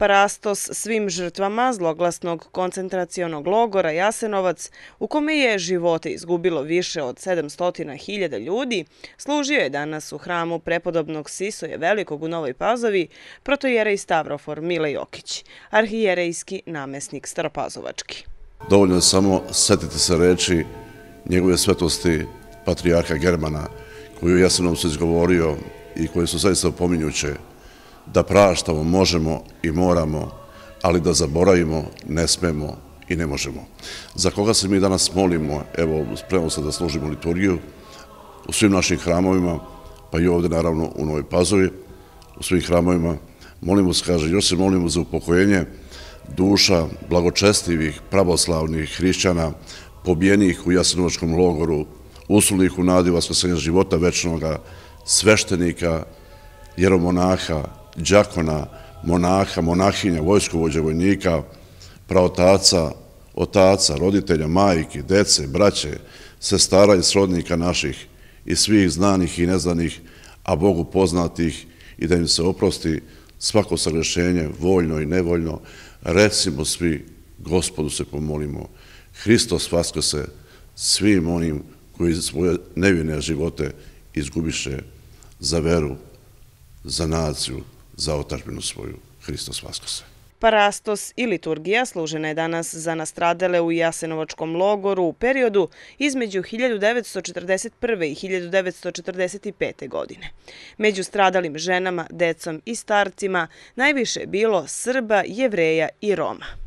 Parastos svim žrtvama zloglasnog koncentracionog logora Jasenovac, u kome je živote izgubilo više od 700.000 ljudi, služio je danas u hramu prepodobnog Sisoja Velikog u Novoj Pazovi protojerej Stavrofor Mile Jokić, arhijerejski namesnik Staropazovački. Dovoljno je samo setiti se reči njegove svetosti patrijarha Germana, koju je Jasenovcu izgovorio i koje su zaista opominjuće, da praštamo možemo i moramo, ali da zaboravimo ne smemo i ne možemo. Za koga se mi danas molimo, evo, spremamo se da služimo liturgiju u svim našim hramovima, pa i ovdje naravno u Novoj Pazovi, u svim hramovima, molimo se, kaže, još se molimo za upokojenje duša blagočestivih pravoslavnih hrišćana, pobijenih u Jasenovačkom logoru, usulih u nadi vaskrsenja života večnoga, sveštenika, jeromonaha, đakona, monaha, monahinja, vojskovođa, vojnika, praotaca, otaca, roditelja, majki, dece, braće, sestara i srodnika naših i svih znanih i neznanih, a Bogu poznatih, i da im se oprosti svako sagrešenje, voljno i nevoljno. Recimo svi, Gospodu se pomolimo, Hristos vaskrse svim onim koji svoje nevine živote izgubiše za veru, za naciju, za otadžbinu svoju. Hristos vaskrse. Parastos i liturgija služena je danas za nastradale u Jasenovačkom logoru u periodu između 1941. i 1945. godine. Među stradalim ženama, decom i starcima najviše je bilo Srba, Jevreja i Roma.